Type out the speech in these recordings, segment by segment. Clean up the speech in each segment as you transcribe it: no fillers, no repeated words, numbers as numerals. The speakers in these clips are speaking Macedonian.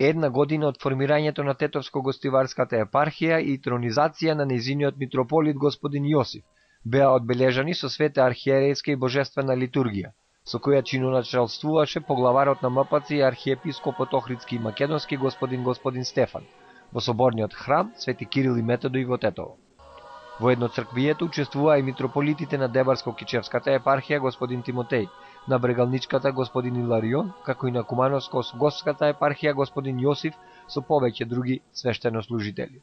една година од формирањето на Тетовско-гостиварската епархија и тронизација на нејзиниот митрополит господин Јосиф беа одбележани со света архиерејска и божествена литургија, со која чиноначалствуваше поглаварот на МПЦ и архиепископот Охридски и Македонски господин Стефан во соборниот храм Свети Кирил и Методој во Тетово. Во едноцрквието учествуваа и митрополитите на Дебарско-Кичевската епархија господин Тимотеј, на Брегалничката господин Иларион, како и на Кумановско-Осговската епархија господин Јосиф со повеќе други свештенослужители.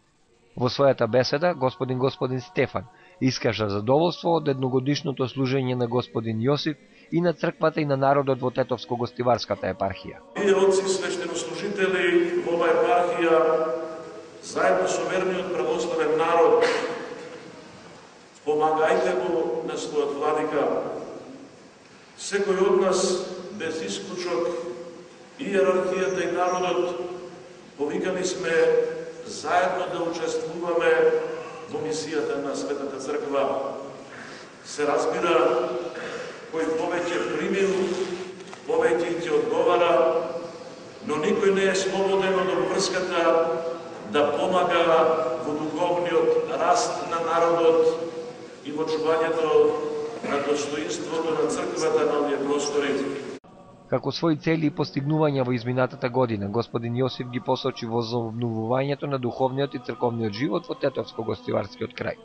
Во својата беседа господин Стефан искажа задоволство од едногодишното служење на господин Јосиф и на црквата и на народот во Тетовско-гостиварската епархија. Вие отци свештенослужители во оваа епархија, заедно со верниот православен народ, помагајте го на својот владика. Секој од нас, без исклучок, иерархијата и народот, повикани сме заедно да учествуваме во мисијата на Светата Црква. Се разбира, кој повеќе примил, повеќе ќе одговара, но никој не е слободен од обврската да помага во духовниот раст на народот и во чувањето на достоинството на црквата на овие простори. Како своји цели и постигнувања во изминатата година, господин Јосиф ги посочи возобновувањето на духовниот и црковниот живот во Тетовско-гостиварскиот крај.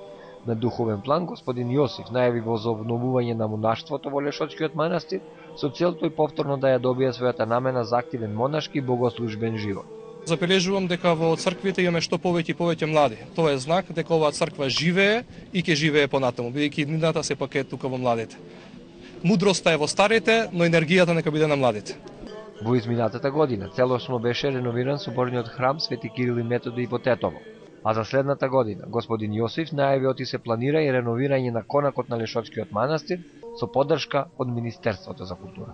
На духовен план, господин Јосиф најави возобновување на монаштвото во Лешочкиот манастир, со цел тој повторно да ја добие својата намена за активен монашки и богослужбен живот. Забележувам дека во црквите имаме што повеќе и повеќе млади. Тоа е знак дека оваа црква живее и ќе живее понатаму, бидејќи иднината сепак е тука во младите. Мудроста е во старите, но енергијата нека биде на младите. Во изминатата година целосно беше реновиран соборниот храм Свети Кирил и Методој во Тетово, а за следната година господин Јосиф најави оти се планира и реновирање на конакот на Лешочкиот манастир со поддршка од Министерството за култура.